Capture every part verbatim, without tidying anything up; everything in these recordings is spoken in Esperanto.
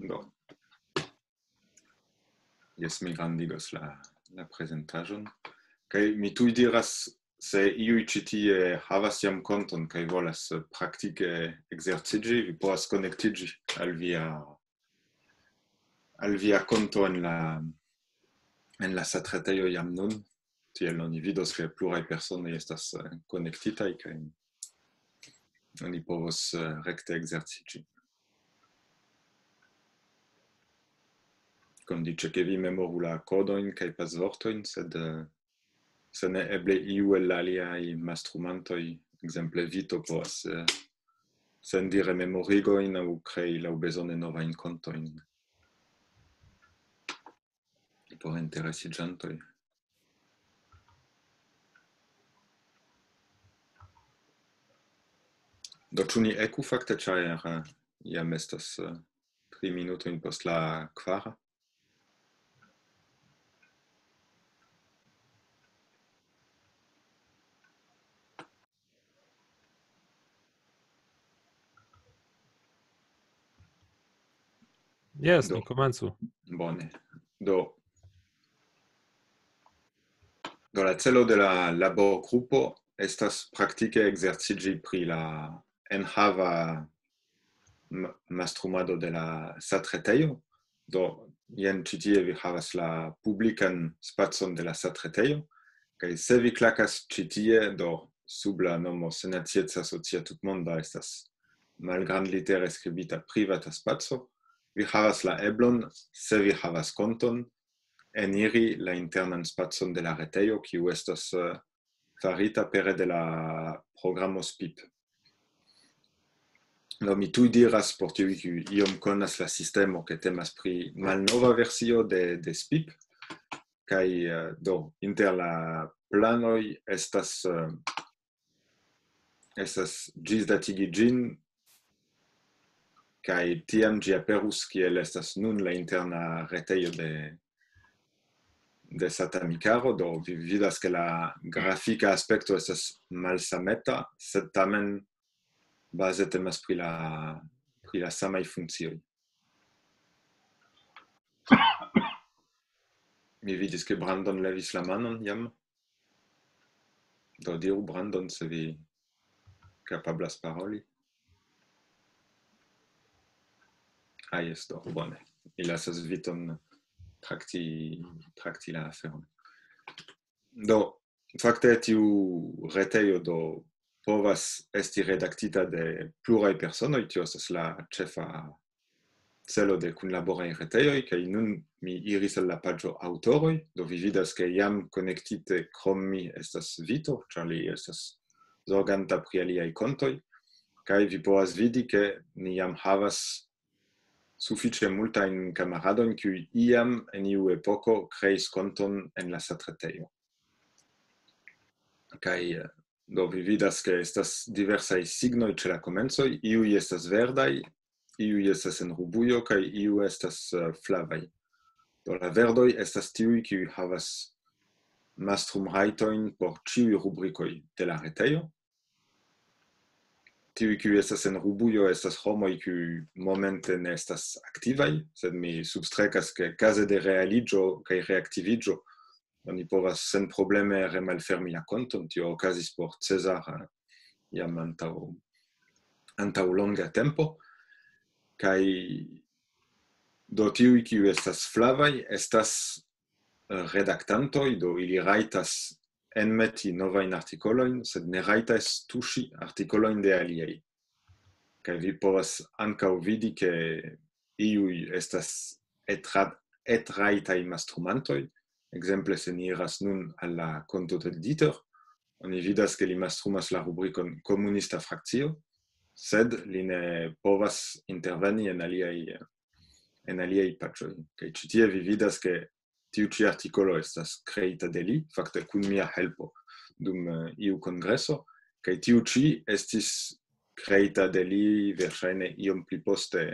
Do, jes, mi grandigos la, la prezentaĵon. Kaj mi tuj diras, se iuj ĉi tie havas jam konton kaj volas, eh, praktike ekzerciĝi, vi povas konektiĝi al via, al via konto en la, en la satretejo jam nun. Tiel oni vidos, ke pluraj personoj estas, eh, konektitaj kaj oni povos, eh, rekte ekzerciĝi. Kondiĉe, ke vi memoru la kodojn kaj pasvortojn, sed, eh, se ne, eble iu el la aliaj mastrumantoj, ekzemple Vito, povas, eh, sendi rememorigojn aŭ krei laŭbezone novajn kontojn por interesiĝantoj. Do, ĉu ni eku fakte, ĉar, eh, jam estas, eh, tri minutojn post la kvara? Jes, Do. Ni komencu. Bone. Do, do la celo de la laborgrupo estas praktike ekzerciĝi pri la enhava m-, mastrumado de la satretejo. Do, jen ĉi tie vi havas la publikan spacon de la satretejo, kaj se vi klakas ĉi tie, do sub la nomo Senacieca Socia Tutmonda estas malgrandlitere skribita privata spaco, vi havas la eblon, se vi havas konton, eniri la internan spacon de la retejo, kiu estas, eh, farita pere de la programo SPIP. Do, mi tuj diras por tiuj, kiuj iom konas la sistemo, ke temas pri malnova versio de, de SPIP, kaj, eh, do, inter la planoj estas, eh, estas ĝisdatigi ĝin, kaj tiam ĝi aperus, kiel estas nun la interna retejo de, de Satamikaro. Do, vi vidas, ke la grafika aspekto estas malsameta, sed tamen baze temas pri la, pri la samaj funkcioj. Mi vidis, ke Brandon levis la manon jam. Do, diru, Brandon, se vi kapablas paroli. Ah, jes, do, bone. Mi lasas Viton trakti, trakti la aferon. Do, fakte, tiu retejo, do, povas esti redaktita de pluraj personoj, tio estas la ĉefa celo de kunlaboraj retejoj, kaj nun mi iris al la paĝo aŭtoroj, do vi vidas, ke jam konektite krom mi estas Vito, ĉar li estas zorganta pri aliaj kontoj, kaj vi povas vidi, ke ni jam havas sufiĉe multajn kamaradojn, kiuj iam en iu epoko kreis konton en la satretejo. Kaj, eh, do, vi vidas, ke estas diversaj signoj ĉe la komencoj, iuj estas verdaj, iuj estas en rubujo, kaj iuj estas, eh, flavaj. Do, la verdoj estas tiuj, kiuj havas mastrumrajtojn por ĉiuj rubrikoj de la retejo. Tiuj, kiuj estas en rubujo, estas homoj, kiuj momente ne estas aktivaj, sed mi substrekas, ke kaze de realiĝo kaj reaktiviĝo oni povas senprobleme remalfermi la konton. Tio okazis por Cezar, eh, jam antaŭ, antaŭ longa tempo. Kaj do, tiuj, kiuj estas flavaj, estas, eh, redaktantoj, do ili rajtas enmeti novajn artikolojn, sed ne rajtas tuŝi artikolojn de aliaj. Kaj vi povas ankaŭ vidi, ke iuj estas etra-, etrajtaj mastrumantoj. Ekzemple, se ni iras nun al la konto de Dieter, oni vidas, ke li mastrumas la rubrikon komunista frakcio, sed li ne povas interveni en aliaj, en aliaj paĝoj. Kaj ĉi tie vi vidas, ke tiu ĉi artikolo estas kreita de li, fakte kun mia helpo dum, eh, iu kongreso, kaj tiu ĉi estis kreita de li verŝajne iom pli poste,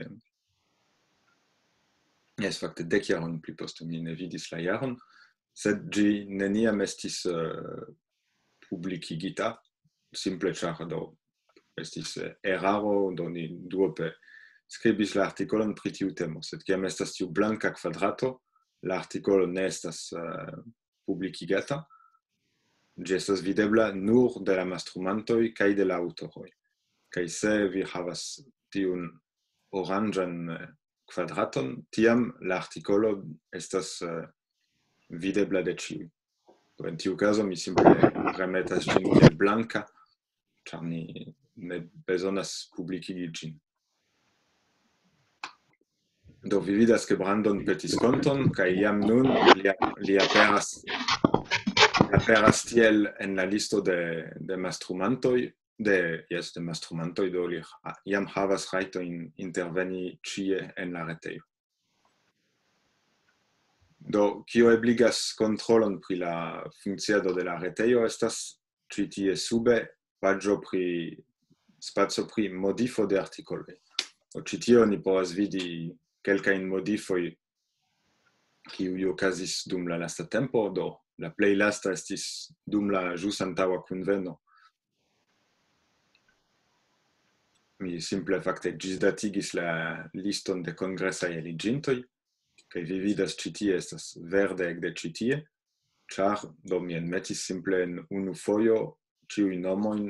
jes, fakte dek jarojn pli poste, mi ne vidis la jaron, sed ĝi neniam estis, eh, publikigita, simple ĉar do estis, eh, eraro, do ni duope skribis la artikolon pri tiu temo, sed kiam estas tiu blanka kvadrato, la artikolo ne estas, eh, publikigata, ĝi estas videbla nur de la mastrumantoj kaj de la aŭtoroj. Kaj se vi havas tiun oranĝan, eh, kvadraton, tiam la artikolo estas, eh, videbla de ĉiuj. Do en tiu kazo mi simple remetas ĝin kiel blanka, ĉar ni ne bezonas publikigi ĝin. Do vi vidas, ke Brandon petis konton, kaj jam nun li, li aperas, aperas tiel en la listo de, de mastrumantoj, de, jes, de mastrumantoj, do li ha-, jam havas rajtojn interveni ĉie en la retejo. Do, kio ebligas kontrolon pri la funkciado de la retejo, estas ĉi tie sube paĝo pri, spaco pri modifo de artikoloj. Do, ĉi tie oni povas vidi kelkajn modifoj, kiuj okazis dum la lasta tempo, do la plej lasta estis dum la ĵus antaŭa kunveno. Mi simple fakte ĝisdatigis la liston de kongresaj aliĝintoj, kaj vi vidas, ĉi tie estas verde ekde ĉi tie, ĉar do mi enmetis simple en unu fojo ĉiuj nomojn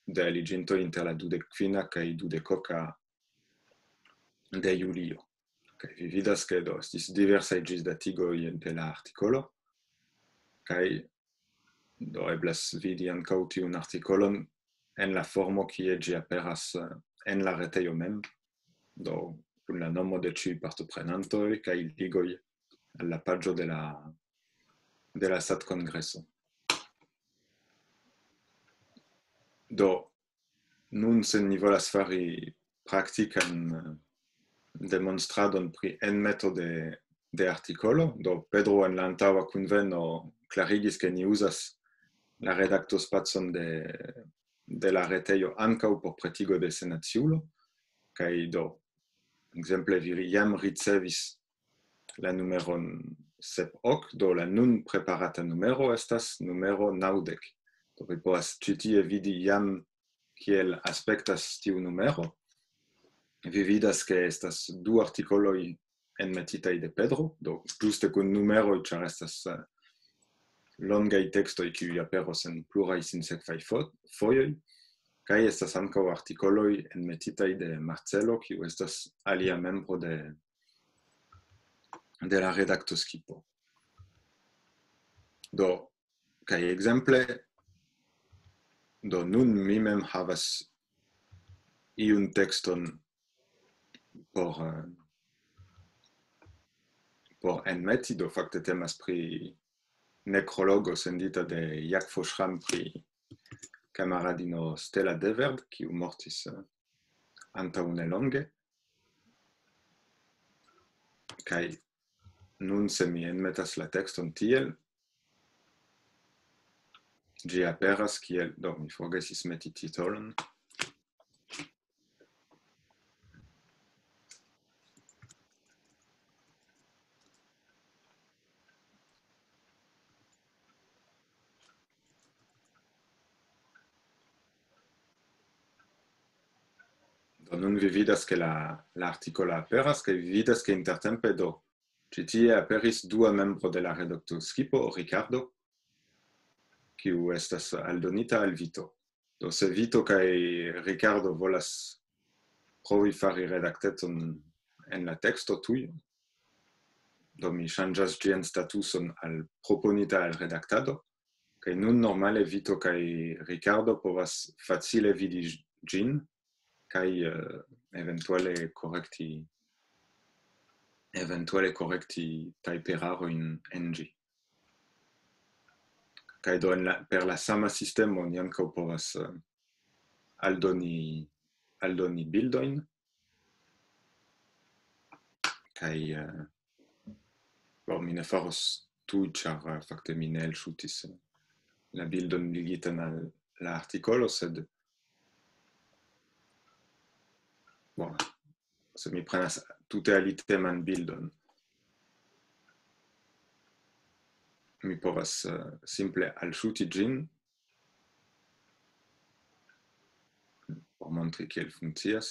de aliĝintoj inter la dudek kvina kaj dudek oka de julio. Kaj vi vidas, ke do estis diversaj ĝisdatigoj de la artikolo, kaj do eblas vidi ankaŭ tiun artikolon en la formo, kie ĝi aperas, eh, en la retejo mem, do kun la nomo de ĉiuj partoprenantoj kaj ligoj al la paĝo de la, de la SAT-kongreso. Do, nun, se ni volas fari praktikan, eh, demonstradon pri enmeto de, de artikolo, do Pedro en la antaŭa kunveno klarigis, ke ni uzas la redaktospacon de, de la retejo ankaŭ por pretigo de senaciulo, kaj do, ekzemple, vi jam ricevis la numeron sep ok, do la nun preparata numero estas numero naŭdek. Do vi povas ĉi tie vidi jam kiel aspektas tiu numero. Vi vidas, ke estas du artikoloj enmetitaj de Pedro, do ĝuste kun numeroj, ĉar estas, eh, longaj tekstoj, kiuj aperos en pluraj sinsekvaj fo-, fojoj, kaj estas ankaŭ artikoloj enmetitaj de Marcelo, kiu estas alia membro de, de la redaktoskipo. Do, kaj ekzemple, do nun mi mem havas iun tekston por, eh, por enmeti, do fakte temas pri nekrologo sendita de Jack Fošram pri kamaradino Stella Deverd, kiu mortis, eh, antaŭ nelonge. Kaj nun, se mi enmetas la tekston tiel, ĝi aperas kiel, do, mi forgesis meti titolon. Do nun vi vidas, ke la, la artikolo aperas, kaj vi vidas, ke intertempe, do, ĉi tie aperis dua membro de la redaktoskipo, Ricardo, kiu estas aldonita al Vito. Do se Vito kaj Ricardo volas provi fari redakteton en la teksto tuj, do mi ŝanĝas ĝian statuson al proponita al redaktado, kaj nun normale Vito kaj Ricardo povas facile vidi ĝin, kaj, eh, eventuale korekti, eventuale korekti tajperarojn en ĝi. Kaj do en la, per la sama sistemo ni ankaŭ povas, eh, aldoni, aldoni bildojn. Kaj, eh, bon, mi ne faros tuj, ĉar, eh, fakte mi ne elŝutis, eh, la bildon ligitan al la artikolo, sed, bon, se mi prenas tute aliteman bildon, mi povas, eh, simple alŝuti ĝin por montri kiel funkcias.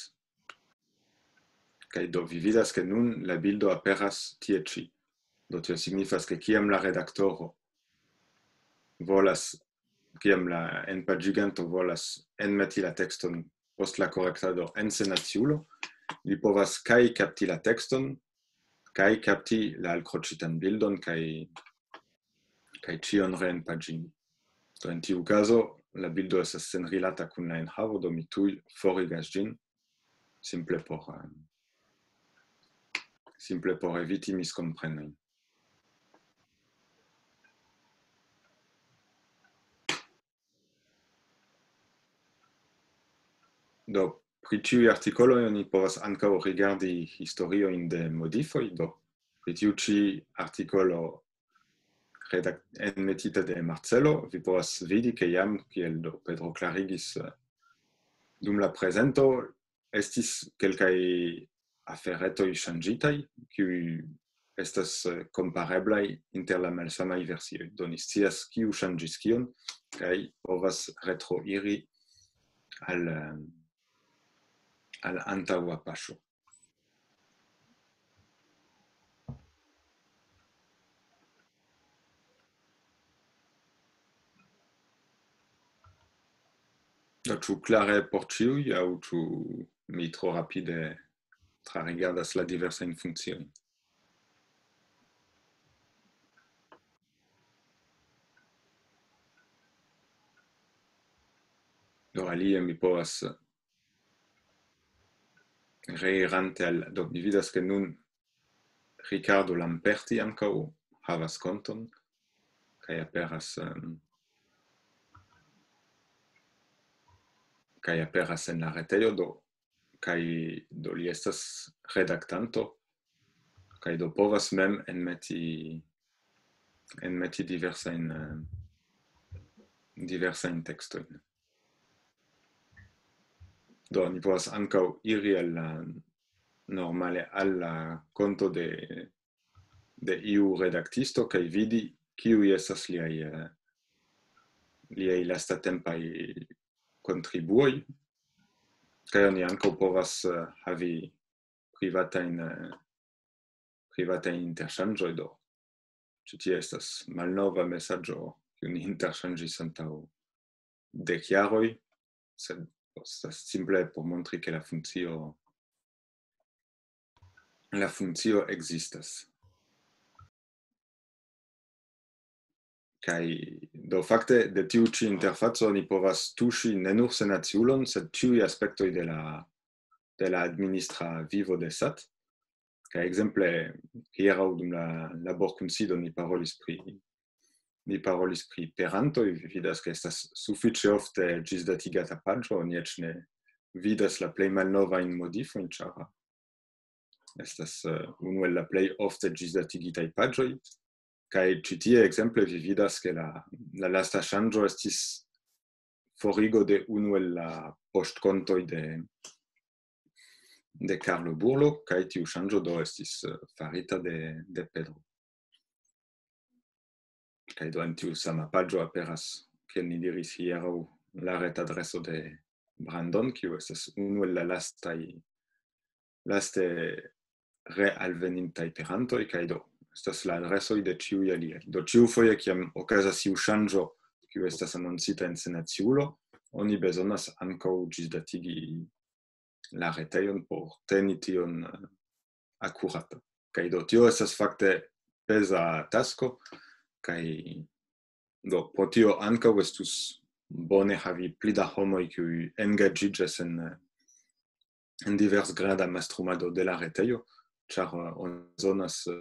Kaj do vi vidas, ke nun la bildo aperas tie ĉi. Do tio signifas, ke kiam la redaktoro volas, kiam la enpaĝiganto volas enmeti la tekston post la korektado en senaciulo, li povas kaj kapti la tekston, kaj kapti la alkroĉitan bildon, kaj, kaj ĉion reenpaĝini. Do en tiu kazo, la bildo estas senrilata kun la enhavo, do mi tuj forigas ĝin, simple por, em, simple por eviti miskomprenojn. Do, pri ĉiuj artikoloj oni povas ankaŭ rigardi historiojn de modifoj. Do, pri tiu ĉi artikolo redak-, enmetita de Marcelo, vi povas vidi, ke jam, kiel do Pedro klarigis, eh, dum la prezento, estis kelkaj aferetoj ŝanĝitaj, kiuj estas, eh, kompareblaj inter la malsamaj versioj. Do ni scias, kiu ŝanĝis kion, kaj povas retroiri al, eh, al antaŭa paŝo. Do, ĉu klare por ĉiuj, aŭ ĉu mi tro rapide trarigardas la diversajn funkciojn? Do, alie mi povas, reirante al, do, mi vidas, ke nun Ricardo Lamperti ankaŭ havas konton, kaj aperas, em, kaj aperas en la retejo, do, kaj do li estas redaktanto, kaj do povas mem enmeti, enmeti diversajn, em, diversajn tekstojn. Do, ni povas ankaŭ iri al la, normale al la konto de, de iu redaktisto kaj vidi, kiuj estas liaj, eh, liaj lastatempaj kontribuoj. Kaj oni ankaŭ povas, eh, havi privatajn, eh, privatajn interŝanĝoj, do. Ĉi tie estas malnova mesaĝo, kiun ni interŝanĝis antaŭ dek jaroj, sed estas simple por montri, ke la funkcio, la funkcio ekzistas. Kaj do fakte de tiu ĉi interfaco oni povas tuŝi ne nur senaciulon, sed ĉiuj aspektoj de la, de la administra vivo de sat. Kaj ekzemple, hieraŭ dum la laborkunsido ni parolis pri, ni parolis pri perantoj, vi vidas, ke estas sufiĉe ofte ĝisdatigata paĝo, oni eĉ ne vidas la plej malnovajn modifojn, ĉar estas, eh, unu el la plej ofte ĝisdatigitaj paĝoj. Kaj ĉi tie, ekzemple, vi vidas, ke la, la lasta ŝanĝo estis forigo de unu el la poŝtkontoj de, de Carlo Burlo, kaj tiu ŝanĝo do estis, eh, farita de, de Pedro. Kaj do en tiu sama paĝo aperas, kiel ni diris hieraŭ, la retadreso de Brandon, kiu estas unu el la lastaj, laste realvenintaj perantoj, kaj do estas la adresoj de ĉiuj aliaj. Do ĉiufoje, kiam okazas iu ŝanĝo, kiu estas anoncita en senaciulo, oni bezonas ankaŭ ĝisdatigi la retejon por teni tion, eh, akurata. Kaj do tio estas fakte peza tasko, kaj do pro tio ankaŭ estus bone havi pli da homoj, kiuj engaĝiĝas en, en divers grada mastrumado de la retejo, ĉar, eh, oni bezonas, eh,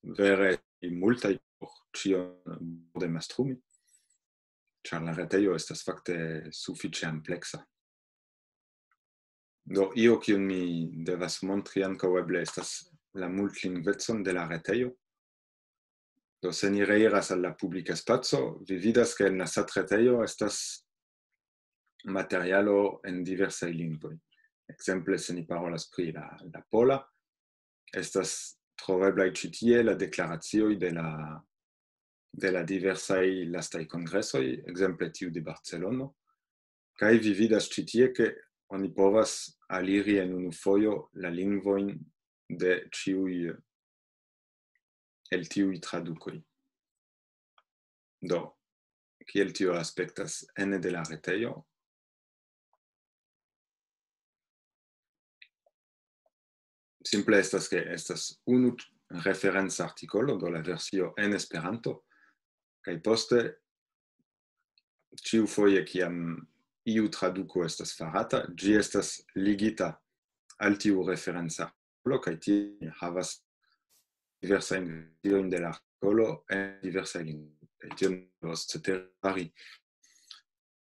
vere multaj por ĉion bone mastrumi, ĉar la retejo estas fakte sufiĉe ampleksa. Do, io kiun mi devas montri ankaŭ eble estas la multlingvecon de la retejo. Do, se ni reiras al la publika spaco, vi vidas, ke en la satretejo estas materialo en diversaj lingvoj. Ekzemple, se ni parolas pri la, la pola, estas troveblaj ĉi tie la deklaracioj de la, de la diversaj lastaj kongresoj, ekzemple tiu de Barcelono. Kaj vi vidas ĉi tie, ke oni povas aliri en unu fojo la lingvojn de ĉiuj, el tiuj tradukoj. Do, kiel tio aspektas ene de la retejo? Simple estas, ke estas unu referenca artikolo, do la versio en Esperanto, kaj poste, ĉiufoje, kiam iu traduko estas farata, ĝi estas ligita al tiu referenca artikolo, kaj tie ni havas diversajn versiojn de la artikolo en diversaj lingvoj. Kaj tion povas cetere fari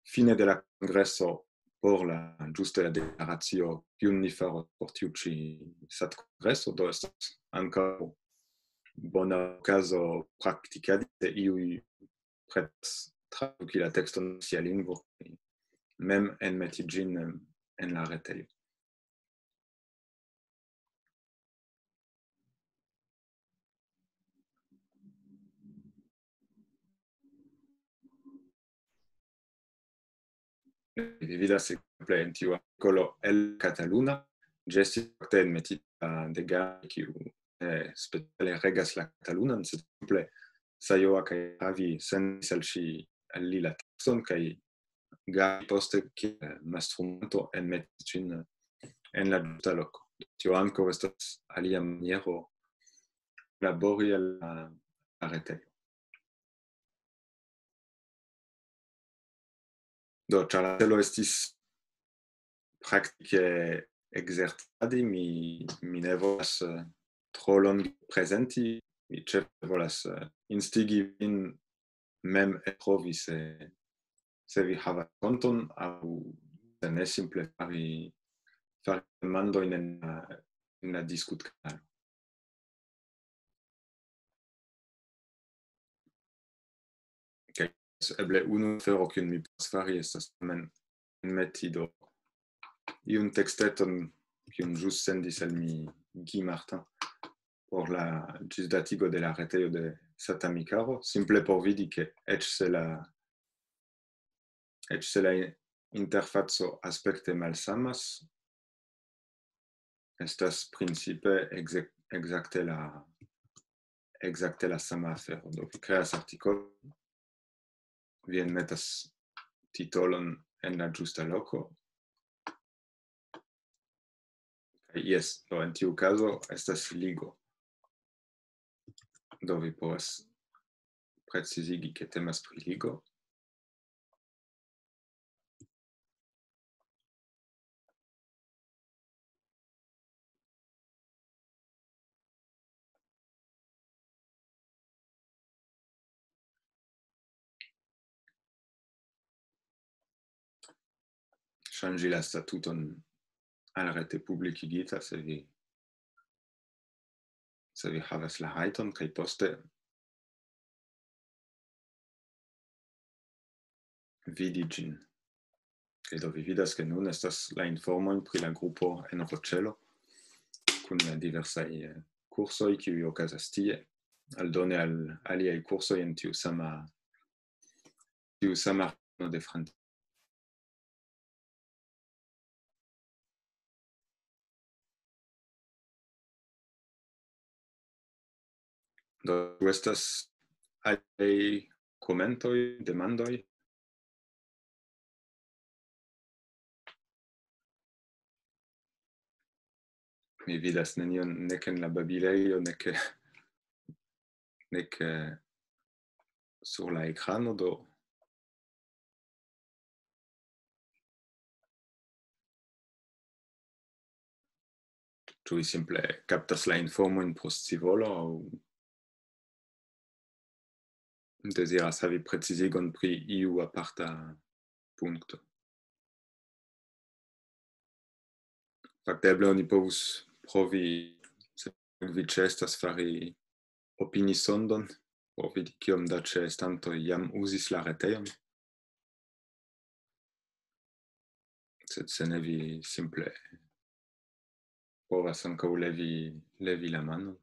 fine de la kongreso por la, ĝuste la deklaracio, kiun ni faros por tiu ĉi satkongreso, do estas ankaŭ bona okazo praktikadi, se iuj pretas traduki la tekston sia lingvo, mem enmeti ĝin en la retejo. Vi vidas, ekzemple, en tiu artikolo el Kataluna, ĝi estis fakte enmetita de Gari, kiu, eh, speciale regas la katalunan, sed simple Sajoa kaj Javi sendis al ŝi, al li la tekston, kaj Gari poste kiel mastrumanto enmetis ĝin en la ĝusta loko. Tio ankaŭ estas alia maniero labori al la, la retejo. Do, ĉar la celo estis praktike ekzercadi, mi, mi ne volas, eh, tro longe prezenti, mi ĉefe volas, eh, instigi vin mem eltrovi, se, se vi havas konton, aŭ se ne, simple fari, fari demandojn en la, en la diskutkanalo. Kaj eble unu afero, kiun mi povas fari, estas tamen enmeti do iun teksteton, kiun ĵus sendis al mi Guy Martin por la ĝisdatigo de la retejo de Satamikaro, simple por vidi, ke eĉ se la, eĉ se la interfaco aspekte malsamas, estas principe ekze-, ekzakte la, ekzakte la sama afero. Do, vi kreas artikolon, vi enmetas titolon en la ĝusta loko. Kaj jes, do, en tiu kazo estas ligo. Do, vi povas precizigi, ke temas pri ligo. Ŝanĝi la statuton al rete publikigita, se vi, se vi havas la rajton, kaj poste vidi ĝin. Kaj do vi vidas, ke nun estas la informoj pri la grupo en Roĉelo kun la diversaj, eh, kursoj, kiuj okazas tie, aldone al aliaj kursoj en tiu sama, tiu sama regiono de Francio. Do, ĉu estas aliaj komentoj, demandoj? Mi vidas nenion nek en la babilejo, nek, nek, eh, sur la ekrano, do. Ĉu vi simple kaptas la informojn pro scivolo aŭ deziras havi precizigon pri iu aparta punkto? Fakte, eble oni povus provi, se vi ĉeestas, fari opinisondon, por vidi, kiom da ĉeestantoj jam uzis la retejon. Sed se ne, vi simple povas ankaŭ levi, levi la manon.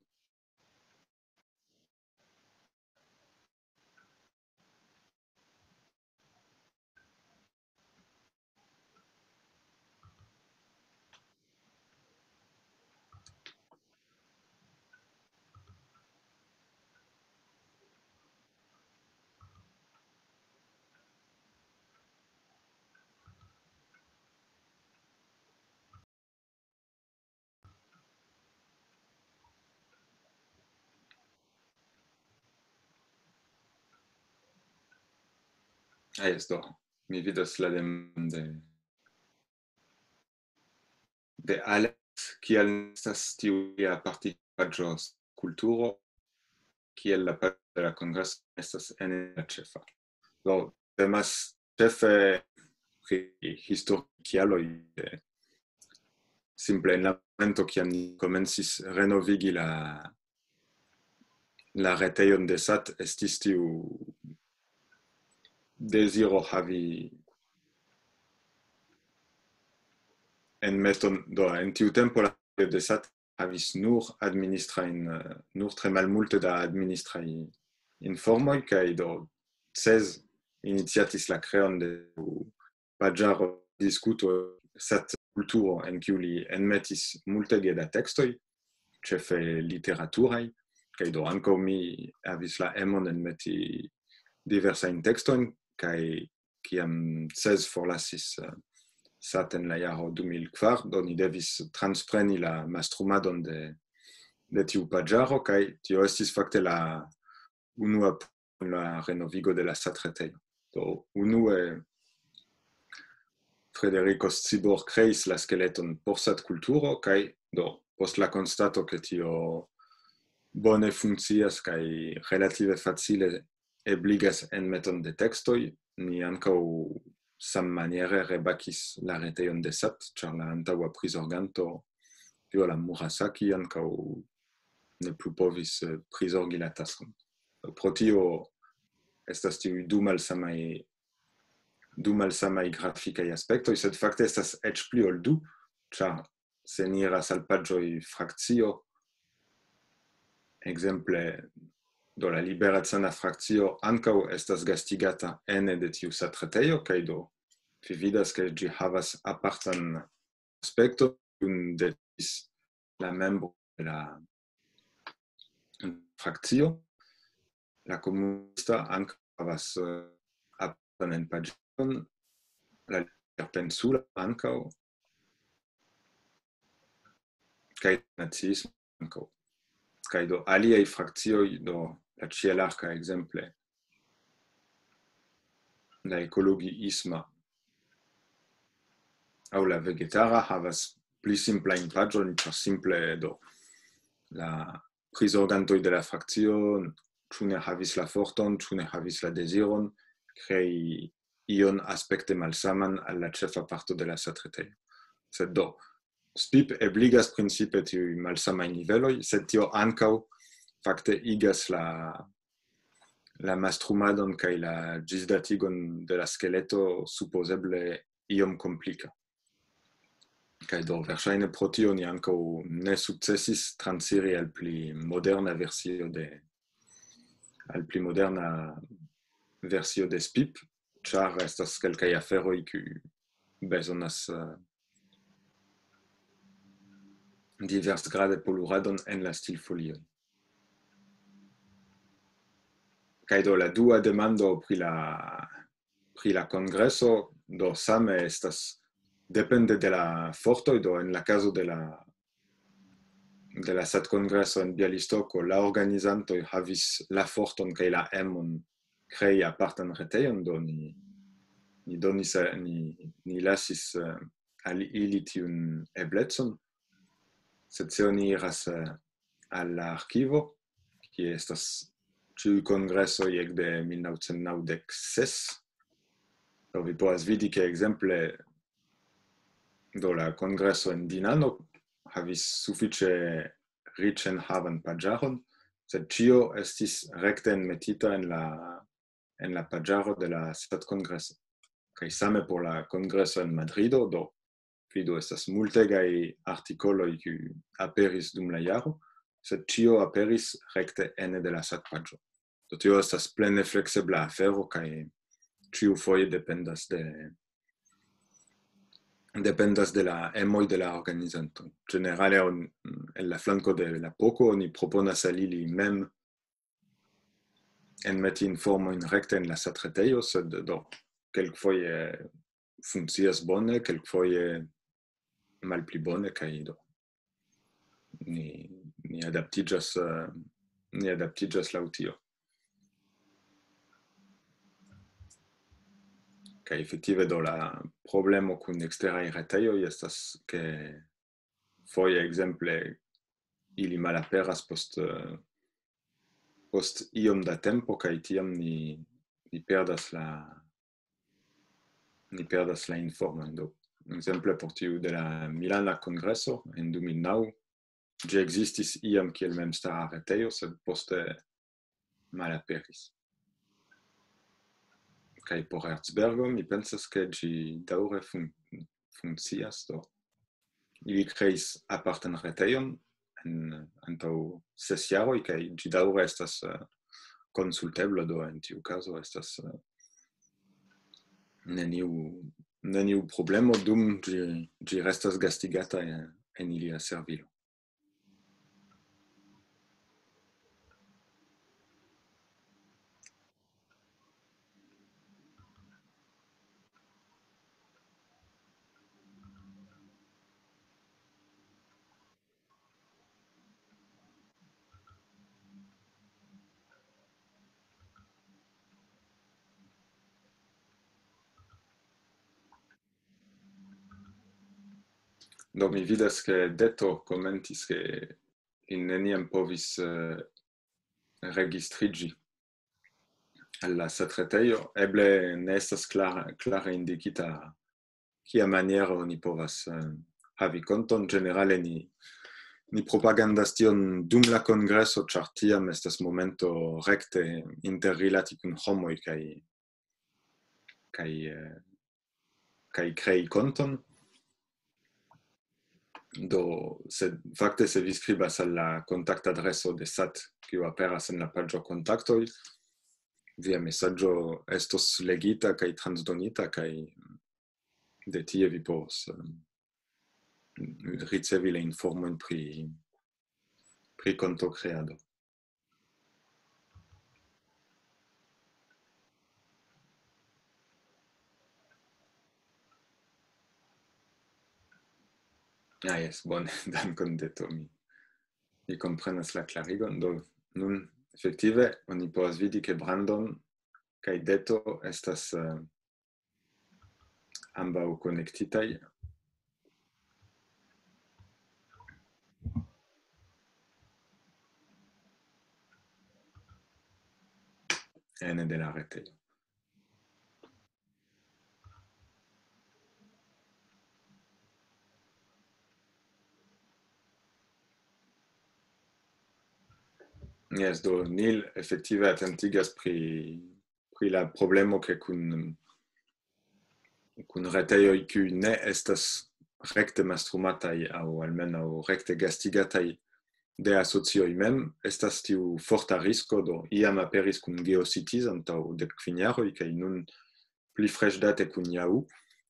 Ah, jes, do. Mi vidas la demandon de, de Alex, kial estas tiu apartigaĵo kulturo, kiel la paĝo de la kongreso estas en la ĉefa. Do, temas ĉefe pri historiaj kialoj, eh, simple en la momento, kiam ni komencis renovigi la, la retejon de sat, estis tiu deziro havi enmeton, do, en tiu tempo la retejo de sat havis nur administrajn, eh, nur tre malmulte da administraj informoj, kaj do Cez iniciatis la kreon de paĝaro diskuto sat kulturo, en kiu li enmetis multege da tekstoj, ĉefe literaturaj, kaj do ankaŭ mi havis la emon enmeti diversajn tekstojn, kaj kiam Cez forlasis, eh, sat en la jaro du mil kvar, do ni devis transpreni la mastrumadon de, de tiu paĝaro, kaj tio estis fakte la unua, la renovigo de la satretejo. Do, unue Federico Scibor kreis la skeleton por satkulturo, kaj do, post la konstato, ke tio bone funkcias kaj relative facile ebligas enmeton de tekstoj, ni ankaŭ sammaniere rebakis la retejon de sat, ĉar la antaŭa prizorganto, Viola Murasaki, ankaŭ ne plu povis, eh, prizorgi la taskon. Pro tio estas tiuj du malsamaj, du malsamaj grafikaj aspektoj, sed fakte estas eĉ pli ol du, ĉar se ni iras al paĝoj frakcio, ekzemple, do la liberecana frakcio ankaŭ estas gastigata ene de tiu satretejo, kaj do vi vidas, ke ĝi havas apartan aspekton, kiun devis la membro de la frakcio. La komunista ankaŭ havas, eh, apartan enpaĝon, la liberpensula ankaŭ, kaj naciismo ankaŭ. Kaj do aliaj frakcioj, do la ĉielarka ekzemple, la ekologiisma aŭ la vegetara havas pli simplajn paĝojn, ĉar simple do la prizorgantoj de la frakcio ĉu ne havis la forton, ĉu ne havis la deziron krei ion aspekte malsaman al la ĉefa parto de la satretejo. Sed do, spip ebligas principe tiuj malsamaj niveloj, sed tio ankaŭ fakte igas la, la mastrumadon kaj la ĝisdatigon de la skeleto supozeble iom komplika. Kaj do, verŝajne pro tio ni ankaŭ ne sukcesis transiri al pli moderna versio de, al pli moderna versio de spip, ĉar estas kelkaj aferoj, kiuj bezonas, eh, diversgrade poluradon en la stilfolioj. Kaj do, la dua demando pri la, pri la kongreso, do, same estas depende de la fortoj, do en la kazo de la, de la satkongreso en Bialystoko, la organizantoj havis la forton kaj la emon krei apartan retejon, do ni, ni donis, eh, ni, ni lasis, eh, al ili tiun eblecon. Sed se oni iras, eh, al la arkivo, kie estas ĉiuj kongresoj ekde mil naŭcent naŭdek ses, do vi povas vidi, ke ekzemple, do la kongreso en Dinano havis sufiĉe riĉenhavan paĝaron, sed ĉio estis rekte enmetita en la, en la paĝaro de la satkongreso. Kaj same por la kongreso en Madrido, do vidu, estas multegaj artikoloj, kiuj aperis dum la jaro, sed ĉio aperis rekte ene de la satpaĝo. Do tio estas plene fleksebla afero, kaj ĉiufoje dependas de, dependas de la emoj de la organizanto. Ĝenerale, on-, en la flanko de la poko oni proponas al ili mem enmeti informojn rekte en la satretejo, sed do, kelkfoje funkcias bone, kelkfoje malpli bone, kaj do, ni, ni adaptiĝas, eh, ni adaptiĝas laŭ tio. Kaj efektive do la problemo kun eksteraj retejoj estas, ke foje, ekzemple, ili malaperas post, eh, post iom da tempo, kaj tiam ni, ni perdas la, ni perdas la informon. Do, ekzemple, por tiu de la Milana Kongreso en du mil naŭ, ĝi ekzistis iam kiel memstara retejo, sed poste malaperis. Kaj por Erzbergo, mi pensas, ke ĝi daŭre fun-, funkcias, do ili kreis apartan retejon en, antaŭ ses jaroj, kaj ĝi daŭre estas, eh, konsultebla, do en tiu kazo estas, eh, neniu, neniu problemo, dum ĝi, ĝi restas gastigata en, en ilia servilo. Do mi vidas, ke Deto komentis, ke li neniam povis, eh, registriĝi al la setretejo. Eble ne estas klare, klare indikita, kia maniero ni povas, eh, havi konton. Ĝenerale ni, ni propagandas tion dum la kongreso, ĉar tiam estas momento rekte interrilati kun homoj kaj, kaj, eh, kaj krei konton. Do, se, fakte, se vi skribas al la kontaktadreso de sat, kiu aperas en la paĝo kontaktoj, via mesaĝo estos legita kaj transdonita, kaj de tie vi povos, em, ricevi la informojn pri, pri kontokreado. Ah, jes, bone, dankon, Deto. Mi, mi komprenas la klarigon. Do, nun, efektive, oni povas vidi, ke Brandon kaj Deto estas, eh, ambaŭ konektitaj. Ene de la retejo. Jes, do Nil efektive atentigas pri, pri la problemo, ke kun, kun retejoj, kiuj ne estas rekte mastrumataj aŭ almenaŭ rekte gastigataj de asocioj mem, estas tiu forta risko, do iam aperis kun GeoCities antaŭ dek kvin jaroj, kaj nun pli freŝdate kun Yahoo,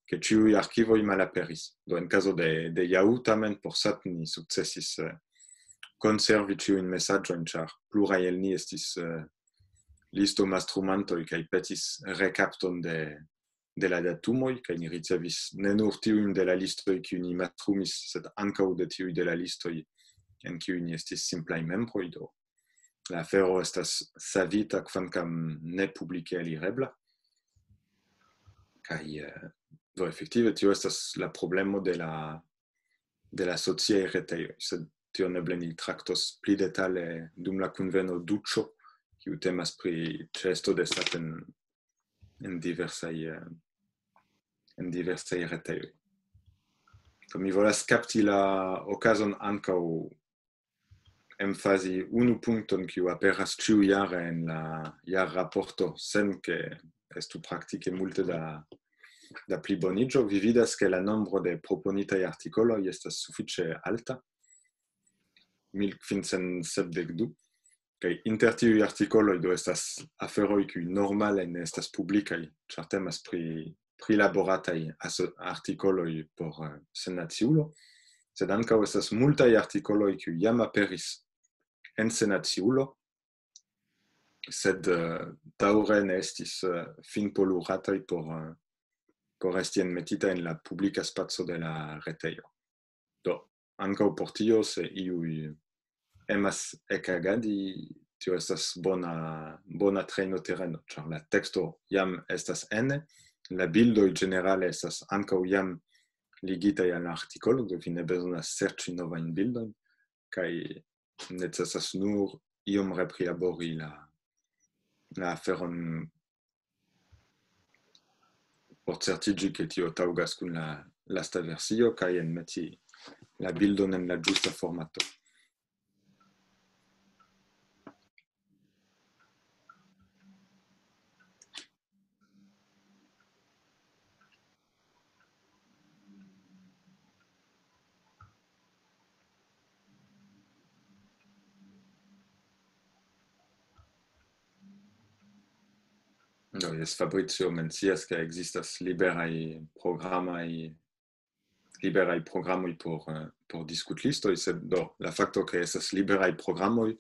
ke ĉiuj arkivoj malaperis. Do en kazo de, de Yahoo tamen por sat ni sukcesis, eh, konservi ĉiujn mesaĝojn, ĉar pluraj el ni estis, eh, listo mastrumantoj kaj petis rekapton de, de la datumoj, kaj ni ricevis ne nur tiujn de la listoj, kiuj ni mastrumis, sed ankaŭ de tiuj de la listoj, en kiuj ni estis simplaj membroj. Do la afero estas savita, kvankam ne publike alirebla. Kaj, eh, do efektive tio estas la problemo de la, de la sociaj retejoj, sed tion eble ni traktos pli detale dum la kunveno Duĉo, kiu temas pri ĉeesto de sat en, en diversaj, eh, en diversaj retejoj. Do mi volas kapti la okazon ankaŭ emfazi unu punkton, kiu aperas ĉiujare en la jarraporto, sen ke estu praktike multe da, da pliboniĝo. Vi vidas, ke la nombro de proponitaj artikoloj estas sufiĉe alta, mil kvincent sepdek du, kaj inter tiuj artikoloj do estas aferoj, kiuj normale ne estas publikaj, ĉar temas pri prilaborataj aso-, artikoloj por, eh, Senaciulo, sed ankaŭ estas multaj artikoloj, kiuj jam aperis en Senaciulo, sed, eh, daŭre ne estis, eh, finpolurataj por, eh, por esti enmetita en la publika spaco de la retejo. Do, ankaŭ por tio, se iuj emas ekagadi, tio estas bona, bona trejnotereno, ĉar la teksto jam estas ene, La bildoj ĝenerale estas ankaŭ jam ligitaj al la artikolo, do vi ne bezonas serĉi novajn bildojn, kaj necesas nur iom reprilabori la, la aferon por certiĝi, ke tio taŭgas kun la lasta versio, kaj enmeti la bildon en la ĝusta formato. Do, jes, Fabrizio mencias, ke ekzistas liberaj programaj, liberaj programoj por, eh, por diskutlistoj, sed do, la fakto, ke estas liberaj programoj,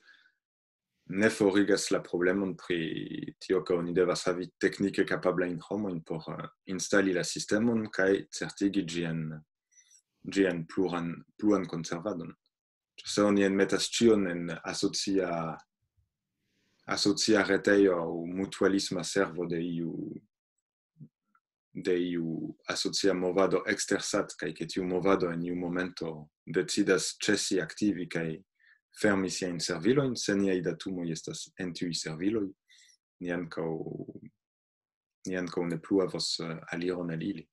ne forigas la problemon pri tio, ke oni devas havi teknike kapablajn homojn por, eh, instali la sistemon kaj certigi ĝian, ĝian pluran, pluan konservadon. Se oni enmetas ĉion en asocia, asocia retejo aŭ mutualisma servo de iu, de iu asocia movado ekster sat, kaj ke tiu movado en iu momento decidas ĉesi aktivi kaj fermi siajn servilojn, se niaj datumoj estas en tiuj serviloj, ni ankaŭ, ni ankaŭ ne plu havos, eh, aliron al ili.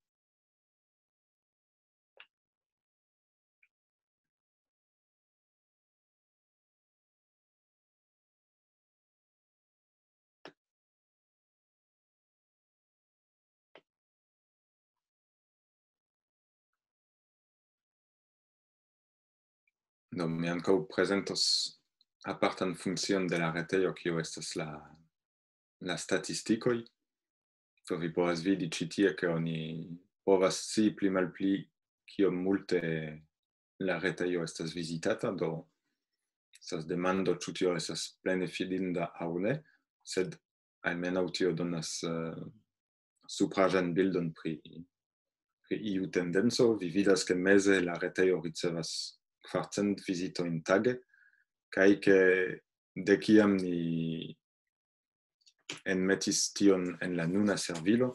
Do, mi ankaŭ prezentos apartan funkcion de la retejo, kio estas la, la statistikoj. Do, vi povas vidi ĉi tie, ke oni povas scii pli malpli, kiom multe la retejo estas vizitata. Do, estas demando, ĉu tio estas plene fidinda aŭ ne, sed almenaŭ tio donas, eh, supraĵan bildon pri, pri iu tendenco. Vi vidas, ke meze la retejo ricevas kvarcent vizitojn tage, kaj ke de kiam ni enmetis tion en la nuna servilo,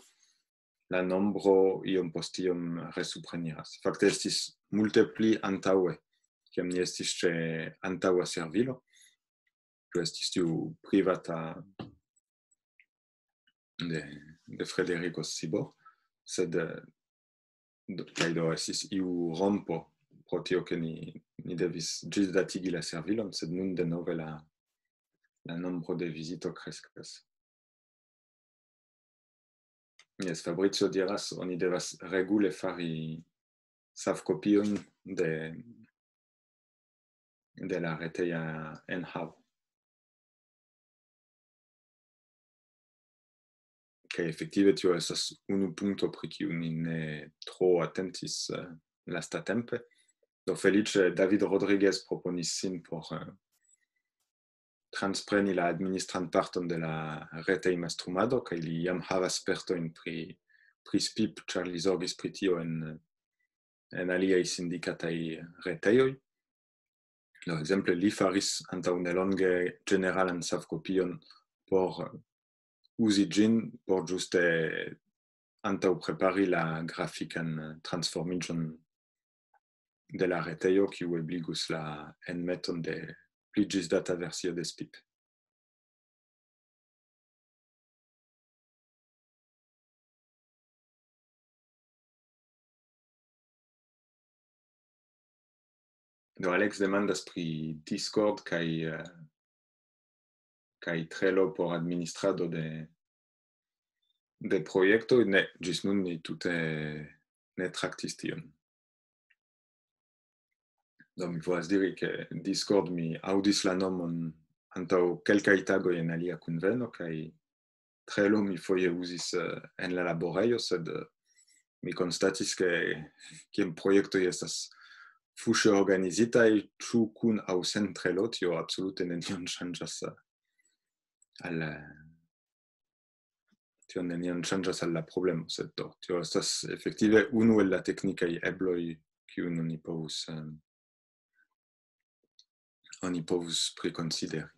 la nombro iom post iom resupreniras. Fakte estis multe pli antaŭe, kiam ni estis ĉe antaŭa servilo, kiu estis tiu privata de, de Frederico Sibor, sed, eh, do, kaj do estis iu rompo pro tio, ke ni, ni devis ĝisdatigi la servilon, sed nun denove la, la nombro de vizito kreskas. Jes, Fabrizio diras, oni devas regule fari savkopiojn de, de la reteja enhavo. Kaj efektive tio estas unu punkto, pri kiu ni ne tro atentis, eh, lastatempe. Do, feliĉe David Rodriguez proponis sin por, eh, transpreni la administran parton de la retejmastrumado, kaj li jam havas spertojn pri, pri spip, ĉar li zorgis pri tio en, en aliaj sindikataj retejoj. Do, ekzemple, li faris antaŭ nelonge ĝeneralan savkopion por uzi ĝin, por ĝuste antaŭprepari la grafikan transformiĝon de la retejo, kiu ebligus la enmeton de pli ĝisdata versio de spip. Do, Alex demandas pri Discord kaj, eh, kaj Trello por administrado de, de projektoj. Ne, ĝis nun ni tute ne traktis tion. Do, mi povas diri, ke Discord, mi aŭdis la nomon antaŭ kelkaj tagoj en alia kunveno, kaj Trello mi foje uzis, eh, en la laborejo, sed, eh, mi konstatis, ke kiam projektoj estas fuŝe organizitaj, ĉu kun aŭ sen Trello, tio absolute nenion ŝanĝas, eh, al, eh, tio nenion ŝanĝas al la problemo, sed do, tio estas efektive unu el la teknikaj ebloj, kiujn oni povus, em, oni povus prikonsideri.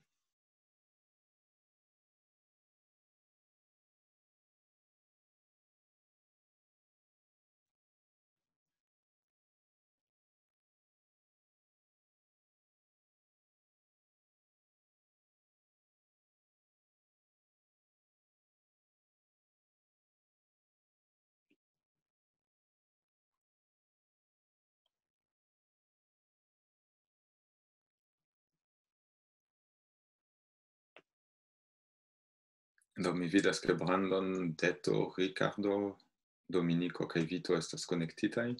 Do mi vidas, ke Brandon, Deto, Ricardo, Dominiko kaj Vito estas konektitaj.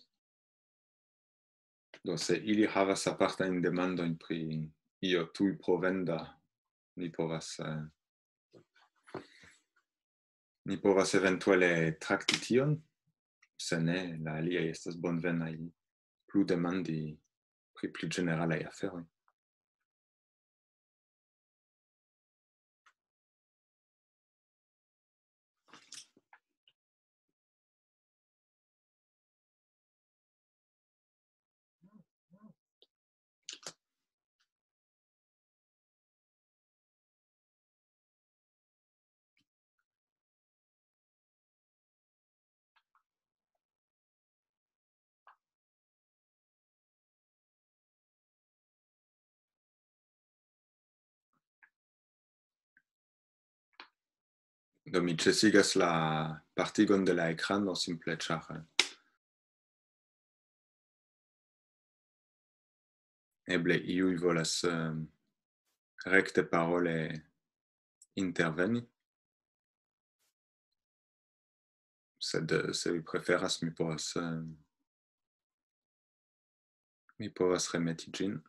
Do se ili havas apartajn demandojn pri io tuj provenda, ni povas, eh, ni povas eventuale trakti tion. Se ne, la aliaj estas bonvenaj plu demandi pri pli ĝeneralaj aferoj. Do mi ĉesigas la partigon de la ekrano simple ĉar, eh, eble iuj volas, eh, rekte parole interveni. Sed, eh, se vi preferas, mi povas, eh, mi povas remeti ĝin.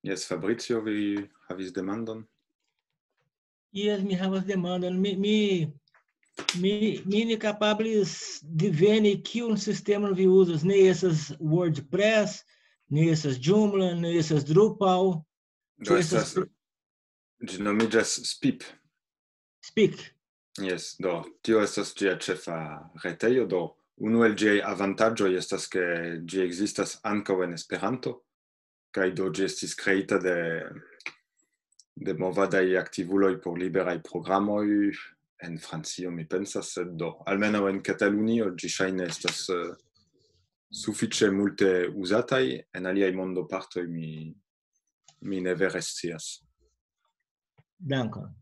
Jes, Fabrizio, vi havis demandon? Jes, mi havas demandon. Mi, mi, mi, mi ne kapablis diveni, kiun sistemon vi uzas. Ne estas WordPress, ne estas Joomla, ne estas Drupal. Do estas, ĝi nomiĝas Spip. Spip. Jes, do tio estas ĝia ĉefa retejo. Do unu el ĝiaj avantaĝoj estas, ke ĝi ekzistas ankaŭ en Esperanto, kaj do ĝi estis kreita de, de movadaj aktivuloj por liberaj programoj en Francio, mi pensas, sed do almenaŭ en Katalunio ĝi ŝajne estas, eh, sufiĉe multe uzataj, en aliaj mondopartoj mi, mi ne vere scias. Dankon.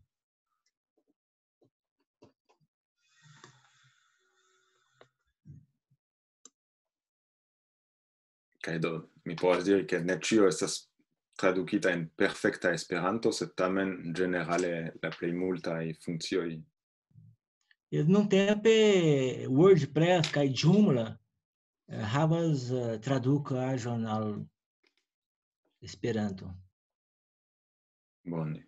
Kaj do, mi povas diri, ke ne ĉio estas tradukita en perfekta Esperanto, sed tamen ĝenerale la plej multaj funkcioj. Jes, nuntempe WordPress kaj Joomla, eh, havas, eh, tradukaĵon al Esperanto. Bone.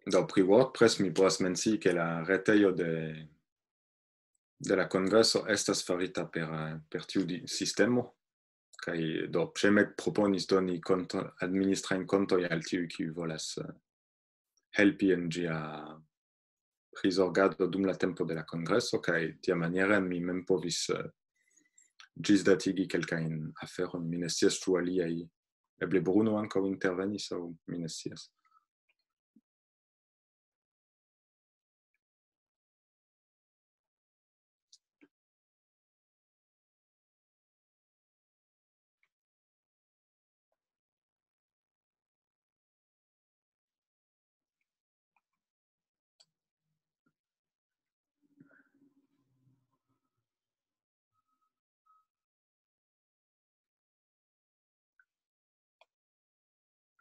Do pri WordPress mi povas mencii, ke la retejo de, de la kongreso estas farita per, eh, per tiu di-, sistemo, kaj do Przemek proponis doni konto, administrajn kontoj al tiuj, kiuj volas, eh, helpi en ĝia prizorgado dum la tempo de la kongreso, kaj tiamaniere mi mem povis, eh, ĝisdatigi kelkajn aferojn. Mi ne scias, ĉu aliaj, eble Bruno ankaŭ intervenis, aŭ mi ne scias.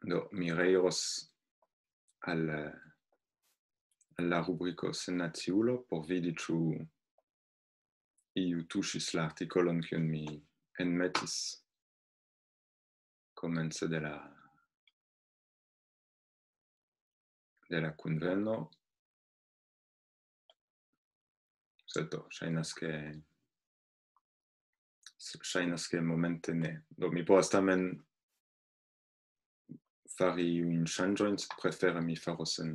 Do, mi reiros al, al la rubriko Sennaciulo por vidi, ĉu iu tuŝis la artikolon, kiun mi enmetis komence de la, de la kunveno. Sed do, ŝajnas, ke, ŝajnas, ke momente ne. Do, mi povas tamen fari iujn ŝanĝojn, sed prefere mi faros en,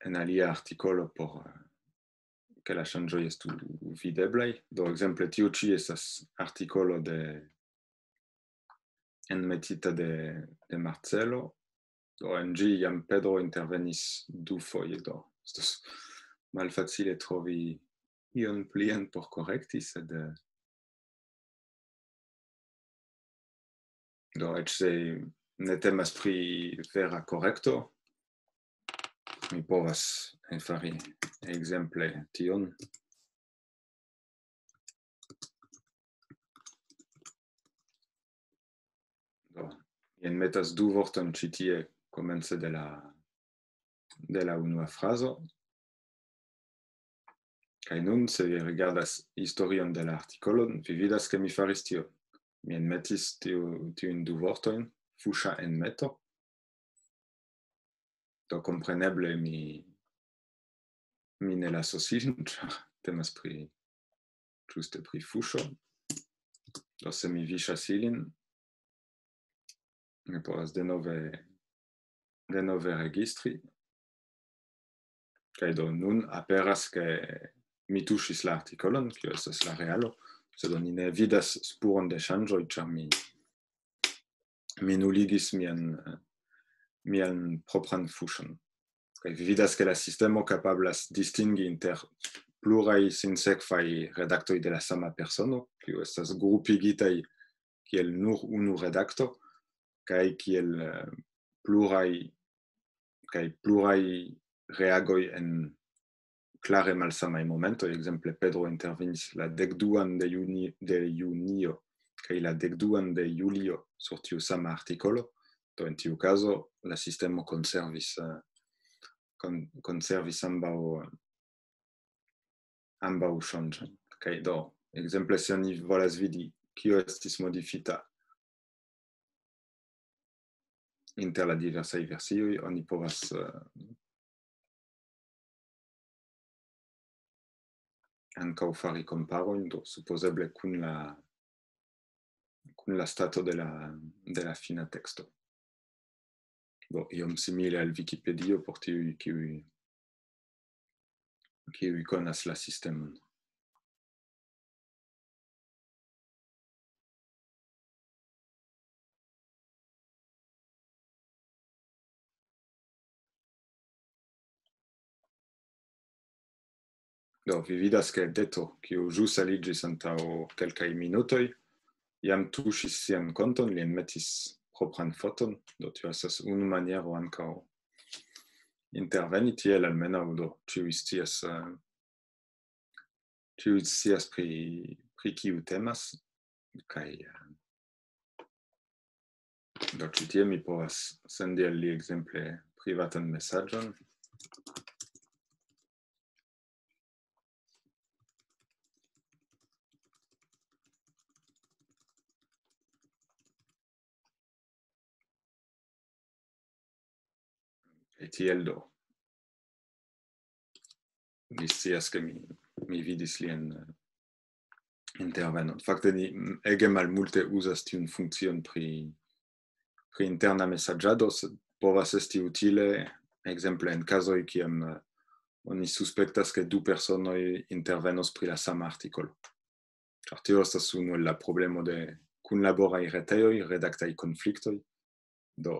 en alia artikolo por, eh, ke la ŝanĝoj estu videblaj. Do, ekzemple, tiu ĉi estas artikolo de, enmetita de, de Marcelo. Do, en ĝi jam Pedro intervenis dufoje, do estas malfacile trovi ion plian por korekti, sed, eh, do, eĉ se ne temas pri vera korekto, mi povas fari ekzemple tion. Do, mi enmetas du vortojn ĉi tie komence de la, de la unua frazo. Kaj nun, se vi rigardas historion de la artikolon, vi vidas, ke mi faris tio. Mi enmetis tiu, tiujn du vortojn, fuŝa enmeto. Do, kompreneble mi, mi ne lasos ilin, ĉar temas pri, ĝuste pri fuŝo. Do, se mi viŝas ilin, mi povas denove, denove registri. Kaj do, nun aperas, ke mi tuŝis la artikolon, kio estas la realo, sed oni ne vidas spuron de ŝanĝoj, ĉar mi, mi nuligis mian, mian propran fuŝon. Kaj vi vidas, ke la sistemo kapablas distingi inter pluraj sinsekvaj redaktoj de la sama persono, kiu estas grupigitaj kiel nur unu redakto, kaj kiel, eh, pluraj, kaj pluraj reagoj en klare malsamaj momentoj. Ekzemple, Pedro intervenis la dekduan de juni-, de junio, kaj la dekduan de julio sur tiu sama artikolo. Do, en tiu kazo, la sistemo konservis, eh, kon-, konservis ambaŭ, ambaŭ ŝanĝojn. Kaj do, ekzemple, se oni volas vidi, kio estis modifita inter la diversaj versioj, oni povas, eh, ankaŭ fari komparojn, do, supozeble kun la, kun la stato de la, de la fina teksto. Do, iom simile al Wikipedio por tiuj, kiuj, kiuj konas la sistemon. Do, vi vidas, ke Deto, kiu ĵus aliĝis antaŭ kelkaj minutoj, jam tuŝis sian konton, li enmetis propran foton, do tio estas unu maniero ankaŭ interveni tiel almenaŭ, do, ĉiuj scias, eh, ĉiuj scias pri, pri kiu temas, kaj, eh, do, ĉi tie mi povas sendi al li ekzemple privatan mesaĝon. Kaj tiel do. Vi scias, ke mi, mi vidis lian, eh, intervenon. Fakte, ni, mm, ege malmulte uzas tiun funkcion pri, pri interna mesaĝado, sed povas esti utile, ekzemple en kazoj, kiam, eh, oni suspektas, ke du personoj intervenos pri la sama artikolo. Ĉar tio estas unu el la problemo de kunlaboraj retejoj, redaktaj konfliktoj. Do,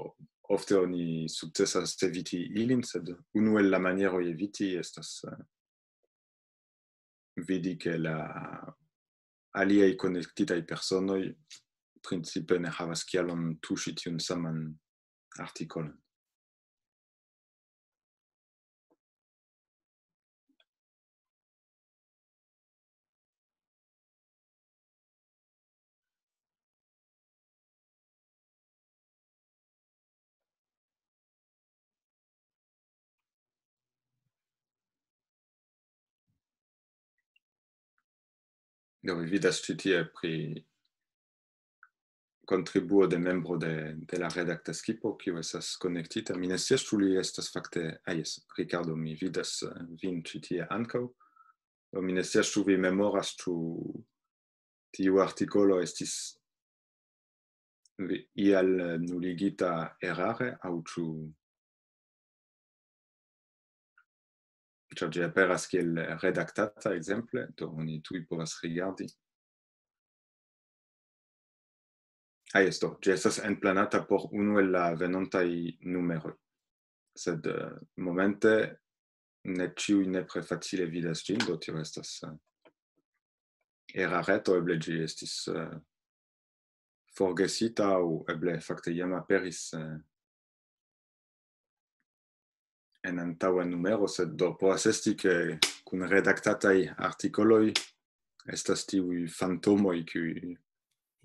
ofte oni sukcesas eviti ilin, sed unu el la manieroj eviti estas, eh, vidi, ke la aliaj konektitaj personoj principe ne havas kialon tuŝi tiun saman artikolon. Do, vi vidas ĉi tie pri kontribuo de membro de, de la redakta skipo, kiu estas konektita. Mi ne scias, ĉu li estas fakte, ah, jes, Ricardo, mi vidas, eh, vin ĉi tie ankaŭ. Do, mi ne scias, ĉu vi memoras, ĉu tiu artikolo estis vi-, ial, eh, nuligita erare, aŭ ĉu, ĉar ĝi aperas kiel redaktata, ekzemple, do oni tuj povas rigardi. Ah, jes, do, ĝi estas enplanata por unu el la venontaj numeroj. Sed, eh, momente ne ĉiuj nepre facile vidas ĝin, do tio estas, eh, erareto, eble ĝi estis, eh, forgesita aŭ eble fakte jam aperis, eh, en antaŭa numero, sed do povas esti, ke kun redaktataj artikoloj estas tiuj fantomoj, kiuj...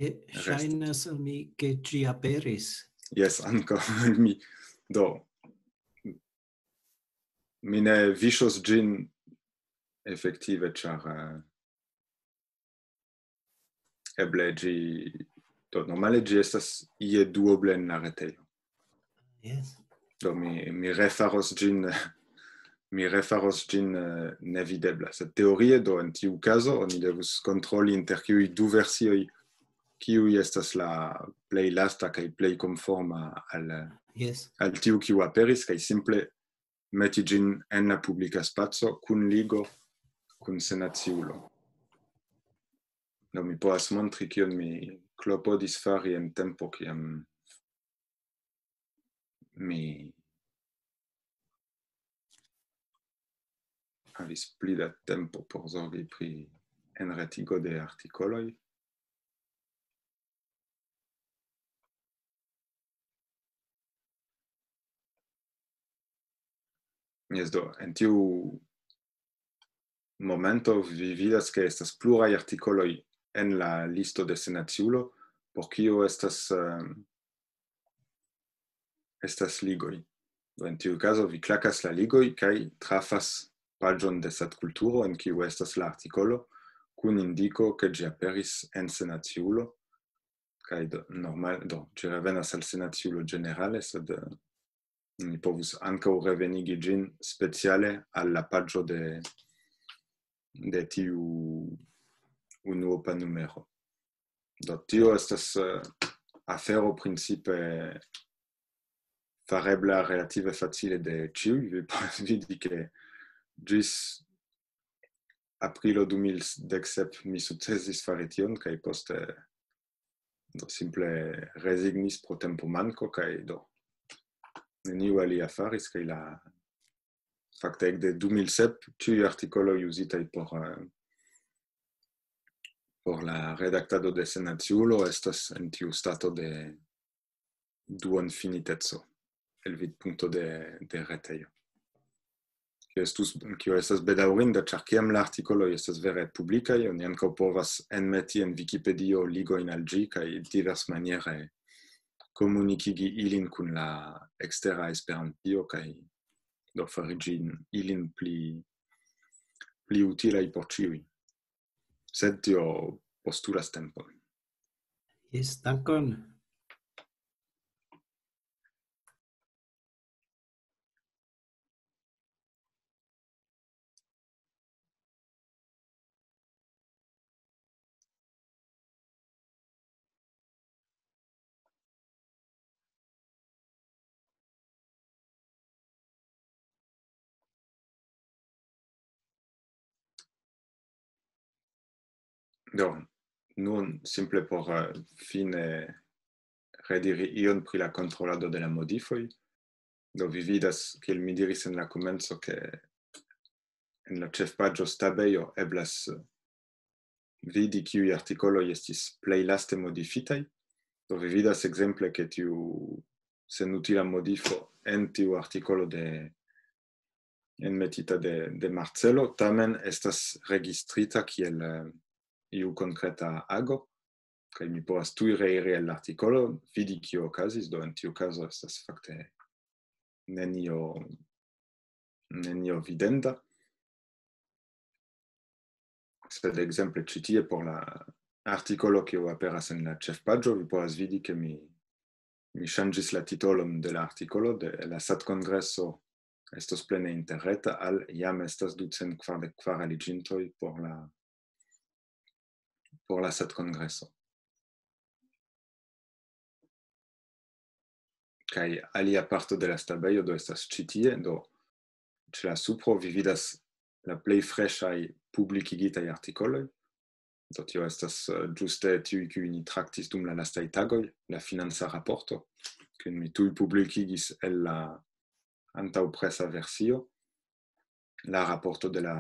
Je, restas. Ŝajnas al mi, ke ĝi aperis. Jes, ankaŭ al mi. Do, mi ne viŝos ĝin efektive, ĉar, eh, eble ĝi, do, normale ĝi estas ie duoble en la retejo. Jes. Do, mi, mi refaros ĝin, mi refaros ĝin, eh, nevidebla. Sed teorie, do, en tiu kazo, oni devus kontroli inter kiuj du versioj, kiuj estas la plej lasta kaj plej konforma al, jes, al tiu, kiu aperis, kaj simple meti ĝin en la publika spaco kun ligo kun senaciulo. Do, mi povas montri, kion mi klopodis fari en tempo, kiam mi havis pli da tempo por zorgi pri enretigo de artikoloj. Jes, do, en tiu momento vi vidas, ke estas pluraj artikoloj en la listo de senaciulo, por kio estas, eh, estas ligoj. Do, en tiu kazo vi klakas la ligoj kaj trafas paĝon de Satkulturo, en kiu estas la artikolo, kun indiko, ke ĝi aperis en senaciulo, kaj do, normal, do, ĝi revenas al senaciulo ĝenerale, sed, eh, ni povus ankaŭ revenigi ĝin speciale al la paĝo de, de tiu unuopa numero. Do, tio estas, eh, afero principe farebla relative facile de ĉiuj. Vi povas vidi, ke ĝis aprilo du mil dek sep mi sukcesis fari tion, kaj poste, do, simple rezignis pro tempomanko, kaj do, neniu alia faris, kaj la, fakte, ekde du mil sep, ĉiuj artikoloj uzitaj por, eh, por la redaktado de senaciulo estas en tiu stato de duonfiniteco el vidpunkto de, de retejo. Kio estus, kio estas bedaŭrinda, ĉar kiam la artikoloj estas vere publikaj, oni ankaŭ povas enmeti en Vikipedio ligojn al ĝi kaj diversmaniere komunikigi ilin kun la ekstera Esperantio kaj do fari ĝin ilin pli, pli utilaj por ĉiuj. Sed tio postulas tempon. Jes, dankon. Do, nun simple por, eh, fine rediri ion pri la kontrolado de la modifoj. Do, vi vidas, kiel mi diris en la komenco, ke en la ĉefpaĝo Stabejo eblas vidi, kiuj artikoloj estis plej laste modifitaj. Do, vi vidas ekzemple, ke tiu senutila modifo en tiu artikolo de, enmetita de, de Marcelo, tamen estas registrita kiel, eh, iu konkreta ago, kaj mi povas tuj reiri al la artikolo, vidi, kio okazis, do, en tiu kazo estas fakte nenio, nenio videnda. Sed ekzemple ĉi tie por la artikolo, kiu aperas en la ĉefpaĝo, vi povas vidi, ke mi, mi ŝanĝis la titolon de la artikolo, de la Satkongreso estos plene interreta, al jam estas ducent kvardek kvar aliĝintoj por la, por la Satkongreso. Kaj alia parto de la stabejo do estas ĉi tie, do ĉe la supro vi vidas la plej freŝaj publikigitaj artikoloj. Do tio estas, eh, ĝuste tiuj, kiuj ni traktis dum la lastaj tagoj, la financa raporto, kiun mi tuj publikigis el la antaŭpresa versio, la raporto de la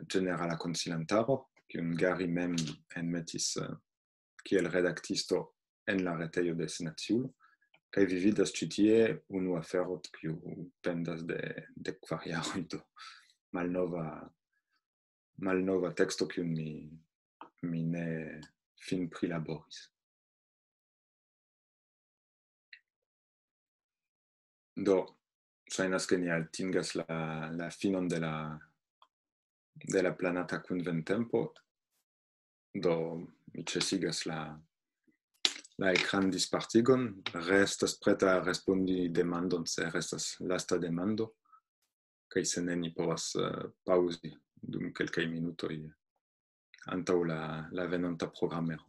ĝenerala konsilantaro, kiun Gary mem enmetis, eh, kiel redaktisto en la retejo de Senaciulo. Kaj vi vidas ĉi tie unu afero, kiu pendas de, de kvar jaroj, do malnova, malnova teksto, kiun mi, mi ne fin prilaboris. Do, ŝajnas, ke ni atingas la, la finon de la, de la planata kunventempo. Do, mi ĉesigas la, la ekran dispartigon. Restas preta respondi demandon, se restas lasta demando. Kaj se ne, ni povas, eh, paŭzi dum kelkaj minutoj antaŭ la, la venonta programero.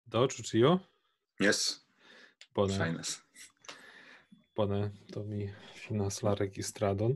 Do, ĉu ĉio? Yes, Bone, ŝajnas. Bone, do mi finas la registradon.